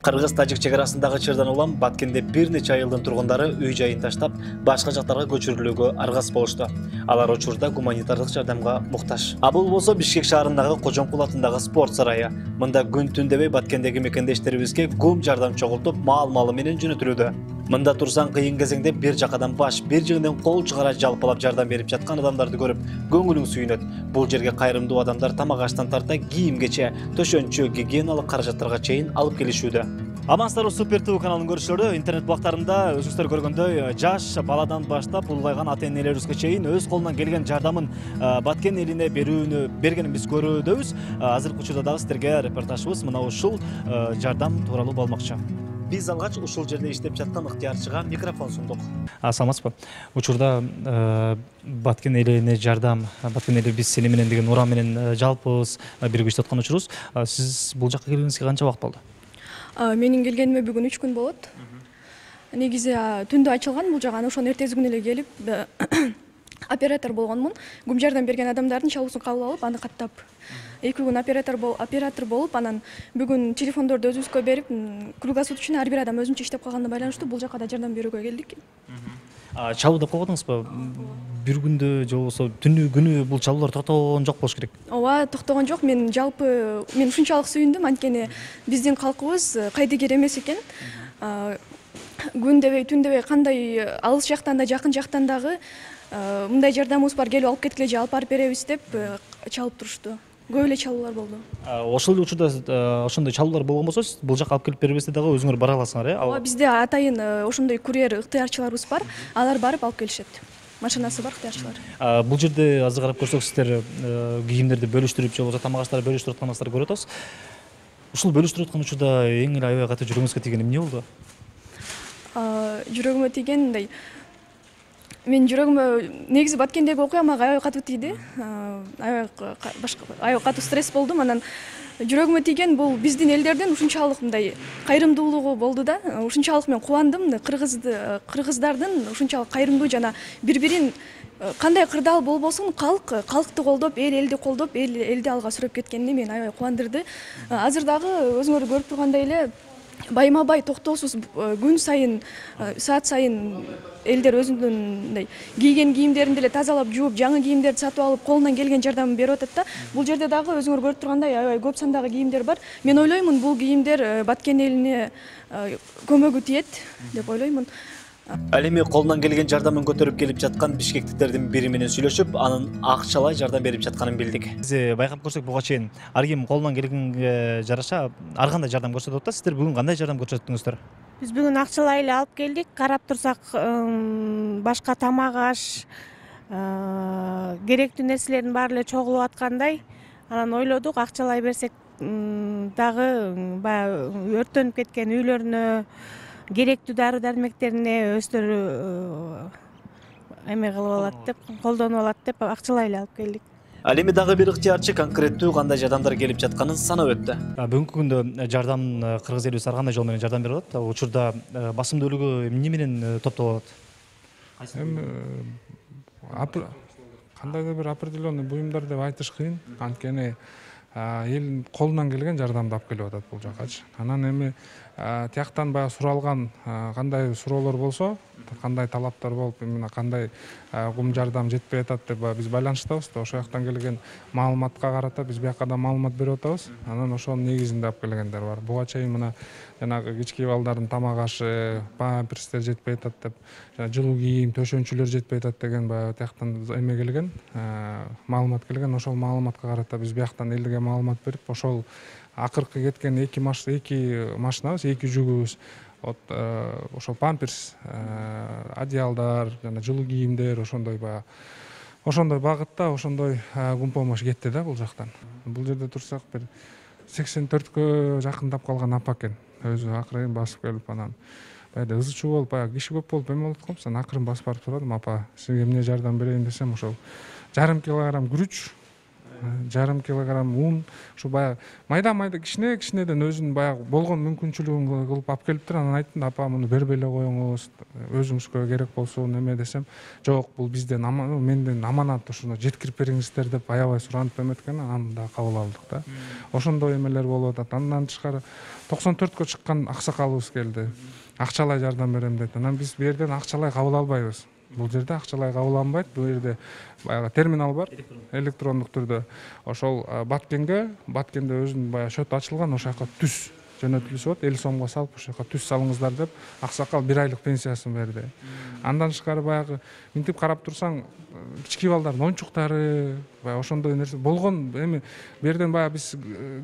Кыргыз-тажик чек арасындагы чырдан улам Баткенде бир нече айылдын тургундары үй жайын таштап, башка жактарга көчүрүлүүгө аргасыз болушту. Алар учурда гуманитардык жардамга муктаж. Бул болсо Бишкек шаарындагы Кожомкул атындагы спорт сарайы. Мында күн түн дебей Баткендеги мекендештерибизге гум жардам чогултуп, маал-малы менен жөнөтүлүүдө. Мында турсаң кыйын кезеңде бир жакадан баш, бир жеңден кол чыгара жалпалап жардам берип жаткан адамдарды көрүп, көңүлүң сүйүнөт. Бул жерге кайрымдуу адамдар тамак аштан тарта кийимгече, төшөнчү, гигиеналык каражаттарга чейин алып келишүүдө. Амансыздарбы, Супер ТВ каналынын көрүүчүлөрү. Интернет буктарында өзүңүздөр көргөндөй жаш баладан баштап улгайган ата-энелерибизге чейин өз колунан келген жардамын Баткен элине бергенин биз көрүүдөбүз. Азыркы учурда дагы сиздерге репортажыбыз мына ушул жардам тууралуу болмокчу. Биз алгач ушул жерде иштеп жаткан ыктыярчыга микрофон сундук. Саламатсызбы? Учурда Баткен элине жардам, Баткен эли биз сени менен деген уран менен жалпыбыз биригип иштеп аткан учурубуз. Сиз бул жакка келгениңизге канча убакыт болду? Менин келгениме бүгүн 3 күн болот. Негизи түндө ачылган бул жагы, ошону эртеси күнү эле келип оператор болгонмун. Гум жардам берген адамдардын чалуусун кабыл алып, аны каттап 2 күн оператор болуп, анан бүгүн телефондорду өзүбүзгө берип, круглосуточно ар бир адам өзүнчө иштеп калганына байланыштуу бул жакка да жардам берүүгө келдик. Чалуу деп койбодуңузбу? Бир күндө же болбосо түнү күнү бул чалуулар токтогон жок болуш керек. Ооба, токтогон жок. Мен ушунчалык сүйүндүм, анткени биздин калкыбыз кайдыгер эмес экен. Күн дебей, түн дебей, кандай алыс жактан да, жакын жактан дагы мындай жардамыбыз бар, келип алып кеткиле же алып барып беребиз деп чалып турушту. Көп эле чалуулар болду. Ошол эле учурда ошондой чалуулар болгон болсо, сиз бул жакка алып келип бербесте дагы өзүңөр бара аласыңар, э? Ооба, бизде атайын ошондой курьер ыктыярчыларыбыз бар. Алар барып алып келишет. Машинасы бар ыктыярчылар. Бул жерде азыр карап көрсөк, сиздер кийимдерди бөлүштүрүп же болбосо тамак аштарды бөлүштүрүп атканыңызды көрүп атабыз. Ушул бөлүштүрүп аткан учурда эң эле аябай катуу жүрөгүңүзгө тийген эмне болду? Жүрөгүмө тийген мындай. Мен жүрөгүмө негизи Баткендеги окуя мага аябай катуу тийди. Аябай катуу стресс болдум. Анан жүрөгүмө тийген бул биздин элдердин ушунчалык мындай кайрымдуулугу болду да. Ушунчалык мен кубандым. Кыргыздардын ушунчалык кайрымдуу жана бири-бирин кандай кырдаал болбосун калкты колдоп, элди колдоп, элди алга сүрөп кеткенине мени аябай кубандырды. Азыр дагы өзүңөр көрүп тургандай эле байма-бай токтоосуз күн сайын, саат сайын элдер өзүнүн мындай кийген кийимдерин деле тазалап, жууп, жаңы кийимдерди сатып алып, колунан келген жардамын берип атат да. Бул жерде дагы өзүңөр көрүп тургандай аябай көп сандагы кийимдер бар. Мен ойлоймун, бул кийимдер Баткен элине көмөгү тиет деп ойлоймун. Ал эми колунан келген жардамын көтөрүп келип жаткан бишкектиктердин бири менен сүйлөшүп, анын акчалай жардам берип жатканын билдик. Биз байкап көрсөк, буга чейин ар ким колунан келгенге жараша ар кандай жардам көрсөтүп атат. Сиздер бүгүн кандай жардам көрсөттүңүздөр? Биз бүгүн акчалай эле алып келдик. Карап турсак, башка тамак аш, керектүү нерселердин баары эле чогулуп аткандай. Анан ойлодук, акчалай берсек дагы баягы өрттөнүп кеткен үйлөрүнө, керектүү дары дармектерине өздөрү эме кылып алат деп, колдонуп алат деп акчалай эле алып келдик. Ал эми дагы бир ыктыярчы конкреттүү кандай жардамдар келип жатканын санап өттү. Бүгүнкү күндө жардам кыргыз элибиз ар кандай жол менен жардам берип атат? Учурда басымдуулугу эмне менен топтолуп атат? Эми кандайдыр бир определенный буюмдар деп айтыш кыйын, анткени эл колунан келген жардамды алып келип атат бул жаккачы. Анан эми тияктан баягы суралган кандай суроолор болсо, кандай талаптар болуп, эмне кандай гум жардам жетпей атат деп биз байланыштабыз да. Ошол жактан келген маалыматка карата биз бияка да маалымат берип атабыз. Анан ошонун негизинде алып келгендер бар. Буга чейин мына жанагы кички балдардын тамак ашы, памперстер жетпей атат деп, жана жылуу кийим, төшөнчүлөр жетпей атат деген баягы тияктан эме келген, маалымат келген. Ошол маалыматка карата биз бияктан элге маалымат берип, ошол акыркы кеткен 2 машинабыз, 2 жүгүбүз, ошол памперс, одеялдар, жана жылуу кийимдер, ошондой багытта, ошондой гум помощь кетти да бул жактан. Бул жерде турсак бир 84кө жакындап калган апа экен. Өзү акырын басып келип, анан баягы ызы чуу болуп, баягы киши көп болуп эме болот экенбиз. Анан акырын басып барып турадым. Апа, сизге эмне жардам берейин десем, ошол 1,5 килограмм күрүч, жарым килограмм un, ушу баягы майда кичинеден өзүнүн баягы болгон мүмкүнчүлүгүн кылып алып келиптир. Анан айттым да, апа муну бербей эле коюңуз, өзүңүзгө керек болсо неме десем, жок, бул бизден менден аманат, ушуну жеткирип бериңиздер деп аябай суранып эметкен. Аны да кабыл алдык да. Ошондой эмелер болуп атат. Андан тышкары 94кө чыккан аксакалыбыз келди. Акчалай жардам берем дейт. Анан биз бу жерден акчалай кабыл албайбыз. Бул жерде акчалай кабыл алынбайт. Бул жерде баягы терминал бар, электрондук түрдө. Ошол Баткенде өзүнүн баягы счет ачылган, ошол жака түз жөнөтүлүшүп болот. 50 сомго салып, ошол жака түз салыңыздар деп аксакал 1 айлык пенсиясын берди. Андан тышкары баягы минтип карап турсаң, кички балдардын оюнчуктары, баягы ошондой нерсе болгон. Эми бу жерден баягы биз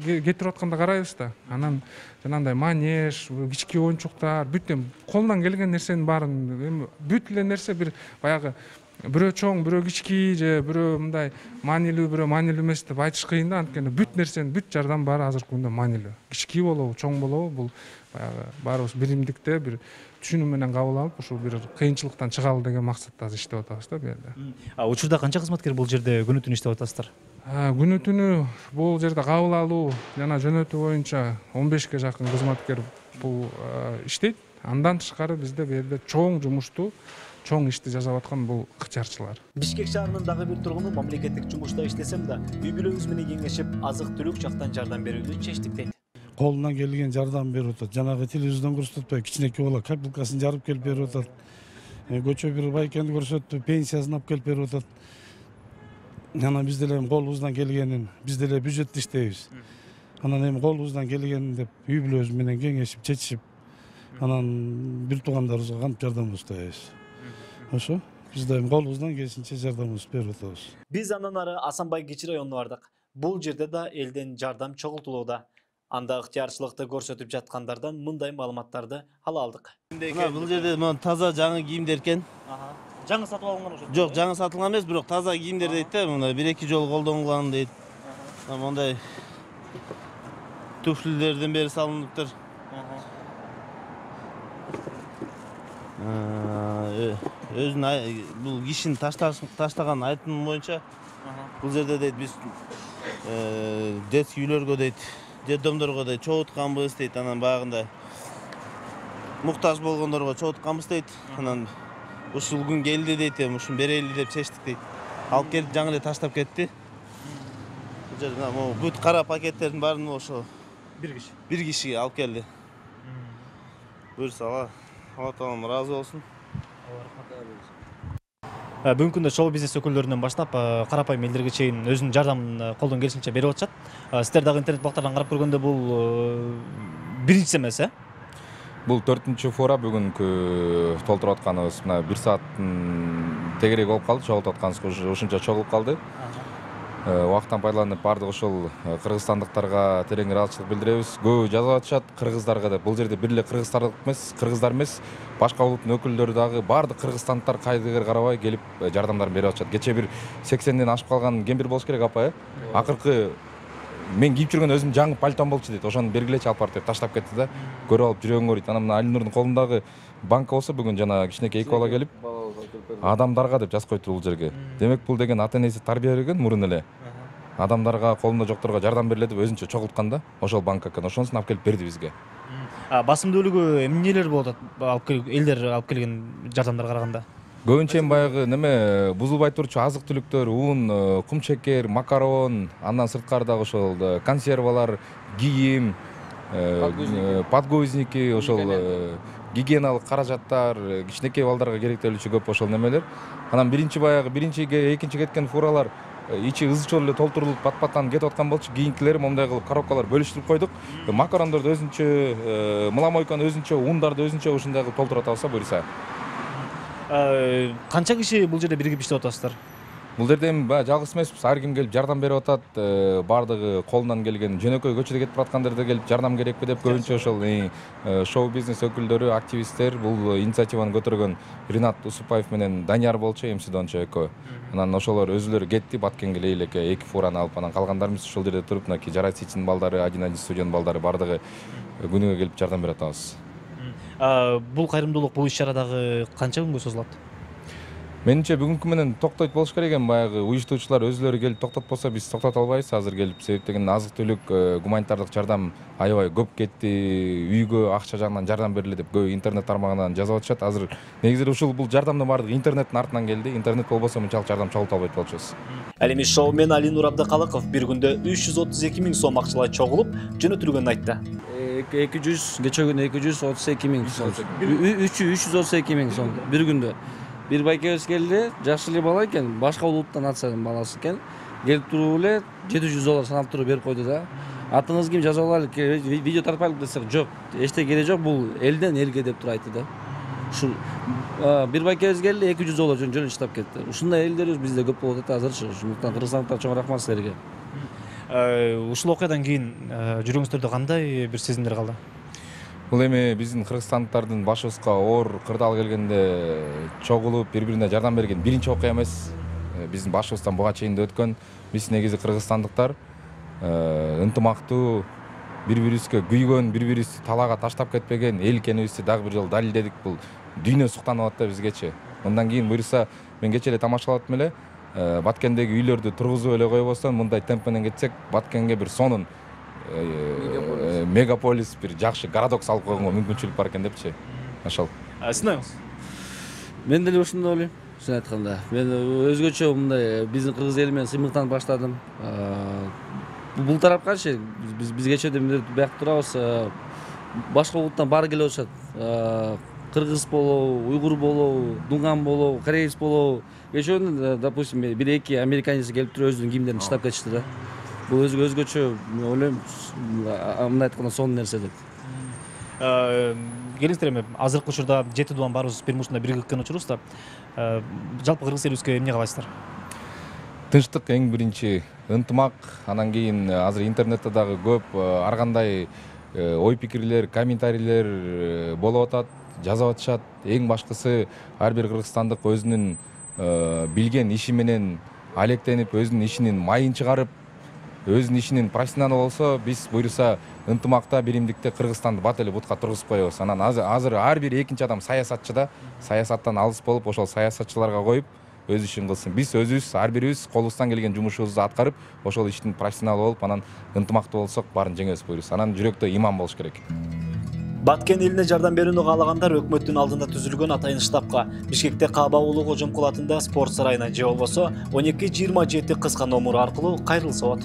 кетирип атканда карайбыз да. Анан жанагындай манеж, кички оюнчуктар, бүт колунан келген нерсенин баарын, эми бүт эле нерсе бир баягы бирөө чоң, бирөө кички же бирөө мындай маанилүү, бирөө маанилүү эмес деп айтыш кыйын да. Анткени бүт нерсенин, бүт жардам баары азыркы күндө маанилүү. Кички болобу, чоң болобу, бул баягы баарыбыз биримдикте бир түшүнүү менен кабыл алып, ушул бир кыйынчылыктан чыгалы деген максатта азыр иштеп атабыз да бу жерде. Учурда канча кызматкер бул жерде күнү түнү иштеп атасыздар? Күнү түнү бул жерде кабыл алуу жана жөнөтүү боюнча 15ке жакын кызматкер бул иштейт. Андан тышкары бизде бу жерде чоң жумушту, чоң ишти жасап аткан бул ыкчарчылар. Бишкек шаарынын дагы бир тургуну мамлекеттик жумушта иштесем да, үй бүлөбүз менен кеңешип, азык-түлүк жактан жардам берүүнү чечтик дейт. Колунан келген жардам берип атат. Жанагы телевизордон көрсөтпөй, кичинекей бала капелкасын жарып келип берип атат. Көчө бир байкенди көрсөттү, пенсиясын алып келип берип атат. Анан биз деле колубуздан келгенин, биз деле бюджетте иштейбиз. Анан эми колубуздан келгенин деп үй бүлөбүз менен кеңешип, чечишип, анан бир туугандарыбызга кантип жардамыбызды атабыз. Ошо биз да эми колубуздан келишинче жардамыбызды берип атабыз. Биз андан ары Асанбай Кичи районуна бардык. Бул жерде да элден жардам чогултулууда. Анда ыктыярчылыкты көрсөтүп жаткандардан мындай маалыматтарды ала алдык. Бул жерде таза жаңы кийимдер экен. Жаңы сатып алынган ошо? Жок, жаңы сатылган эмес, бирок таза кийимдер дейт да, мына 1-2 жолу колдонулган дейт. Мондай туфлилерден бери салыныптыр. Өзүнүн бул кишинин таштаган айтымы боюнча бул жерде дейт биз детский үйлөргө дейт, детдомдорго дейт чогултканбыз дейт. Анан баягындай муктаж болгондорго чогултканбыз дейт. Анан ушул күн келди дейт, эми ушуну берели деп чечтик дейт. Алып келип жаңы эле таштап кетти. Бул жерде бүт кара пакеттердин баарын ошо бир кишиге алып келди. Буюрса Алла таалам ыраазы болсун. Бүгүнкү күндө шоу бизнес өкүлдөрүнөн баштап карапайым элдерге чейин өзүнүн жардамын колдон келишинче берип атышат. Сиздер дагы интернет бактардан карап көргөндө бул биринчиси эмес, Бул 4-чү фора бүгүнкү толтуруп атканыбыз мына 1 сааттын тегерек болуп калды, чогултуп атканыбыз ушунча чогулуп калды. Убакыттан пайдаланып бардык ошол кыргызстандыктарга терең ыраазычылык билдиребиз. Көбү жазып атышат кыргыздарга деп. Бул жерде бир эле кыргыздар эмес, башка улуттун өкүлдөрү дагы бардык кыргызстандыктар кайдыгер карабай келип жардамдарын берип атышат. Кече бир 80ден ашып калган кемпир болуш керек апа, Акыркы мен кийип жүргөн өзүм жаңы пальтом болчу дейт. Ошону бергилечи алып барып деп таштап кетти да. Көрүп алып жүрөгүңөр дейт. Анан мына Алинурдун колундагы банка болсо бүгүн жана кичинекей 2 бала келип адамдарга деп жазып коюптур бул жерге. Демек бул деген ата энеси тарбия берген мурун эле. Адамдарга, колунда жокторго жардам бериле деп өзүнчө чогулткан да. Ошол банка экен. Ошонусун алып келип берди бизге. Басымдуулугу эмнелер болот элдер алып келген жардамдарга караганда? Көбүнчө баягы неме бузулбай турчу азык-түлүктөр, un, кумчекер, макарон, андан сырткары дагы ошол консервалар, кийим, подгузники, ошол гигиеналык каражаттар, кичинекей балдарга керектелүүчү көп ошол немелер. Анан биринчиге, экинчиге кеткен фуралар ичи ызчыл эле толтурулуп пат-паттан кетип аткан болчу. Кийинкилери момундай кылып коробкалар бөлүштүрүп койдук. Макарондорду өзүнчө, мыламойканы өзүнчө, ундарды өзүнчө ушундай кылып толтуруп атабыз буюрса. Канча киши бул жерде биригип иштеп атасыздар? Бул жерде эми жалгыз эмеспиз, ар ким келип жардам берип атат. Бардыгы колунан келген жөнөкөй көчөдө кетип бараткандарды келип жардам керекпи деп көбүнчө ошол шоу бизнес өкүлдөрү, активисттер бул инициативаны көтөргөн Ринат Усупаев менен Данияр болчу, МС-дончу экөө. Анан ошолор өзүлөрү кетти, Баткенге элеке 2 фураны алып, анан калгандарыбыз ушул жерде туруп, мынакей Жарайсичтин балдары, 1-1 студиянын балдары бардыгы күнүгө келип жардам берип атабыз. Бул кайрымдуулук, бул иш-чара дагы канча күнгө созулат? Менимче бүгүнкү менен токтойт болуш керек эми, баягы уюштуучулар өзүлөрү келип токтотпосо биз токтото албайбыз азыр келип, себеп деген азык түлүк, гуманитардык жардам аябай көп кетти, үйгө акча жагынан жардам бериле деп көбү интернет тармагынан жазып атышат. Азыр негизи бул жардамдын баардыгы интернеттин артынан келди. Интернет болбосо мынчалык жардам чогулта албайт болчубуз. Ал эми шоумен Алинур Абдыкалыков бир күндө 332 миң сом акчалай чогулуп жөнөтүлгөнүн айтты. 200, кече күнү 232 миң сом. 332 миң сом бир күндө. Бир байкебиз келди, жакшы эле бала экен, башка улуттан атсанын баласы экен. Келип туруп эле $700 санап туруп берип койду да. Атыңыз ким, жазып алайлы, видео тартпайлы десек, жок, эчтеке кереги жок, бул элден элге деп туруп айтты да. Ушул бир байкебиз келди, $200 жөн иштеп кетти. Ушундай элдер бизде көп болуп атат азырчы. Ошондуктан кыргызстандыктар чоң рахмат силерге. Ушул окуядан кийин жүрөгүңүздөрдө кандай бир сезимдер калды? Бул эми биздин кыргызстандыктардын башыбызга оор кырдаал келгенде чогулуп бири-бирине жардам берген биринчи окуя эмес. Биздин башыбыздан буга чейин да өткөн. Биз негизи кыргызстандыктар ынтымактуу, бири-бирибизге күйгөн, бири-бирибизди талаага таштап кетпеген эл экенибизди дагы бир жолу далилдедик. Бул дүйнө суктанып атат да бизгечи. Мындан кийин буюрса, мен кече эле тамашалап аттым эле. Баткендеги үйлөрдү тургузуп эле койбостон, мындай темп менен кетсек, Баткенге бир сонун мегаполис, бир жакшы городок салып койгонго мүмкүнчүлүк бар экен депчи. Ошол. Сиз? Мен деле ошондой ойлойм. Чын айтканда, мен өзгөчө мындай биздин кыргыз эли менен сыймыктанып баштадым. Бул тарапкачы биз кечеден биякта турабыз. Башка улуттан баары келип атышат. Кыргыз болобу, уйгур болобу, дунган болобу, кореец болобу. Кечээ, допустим, бир-эки американец келип туруп өзүнүн кийимдерин таштап кетишти да. Бул өзгөчө ойлойм, мындай айтканда сонун нерсе деп. Келиңиздер эми азыркы учурда жети дубан баарыбыз бир ушундай бириккен учурубузда жалпы кыргыз элибизге эмне каалайсыздар? Тынчтык эң биринчи, ынтымак, анан кийин азыр интернетте дагы көп ар кандай ой пикирлер, комментарийлер болуп атат, жазып атышат. Эң башкысы ар бир кыргызстандык өзүнүн билген иши менен алектенип, өзүнүн ишинин майын чыгарып, өзүнүн ишинин профессионалы болсо, биз буюрса ынтымакта, биримдикте Кыргызстанды бат эле бутка тургузуп коебуз. Анан азыр ар бир экинчи адам саясатчы да, саясаттан алыс болуп, ошол саясатчыларга коюп өз ишин кылсын. Биз өзүбүз ар бирибиз колубуздан келген жумушубузду аткарып, ошол иштин профессионалы болуп, анан ынтымактуу болсок, баарын жеңебиз буюрса. Анан жүрөктө иман болуш керек. Баткен элине жардам берүүнү каалагандар өкмөттүн алдында түзүлгөн атайын штабка Бишкекте Кааба уулу Кожомкул атында спорт сарайына же болбосо 1227 кыска номуру аркылуу кайрылса болот.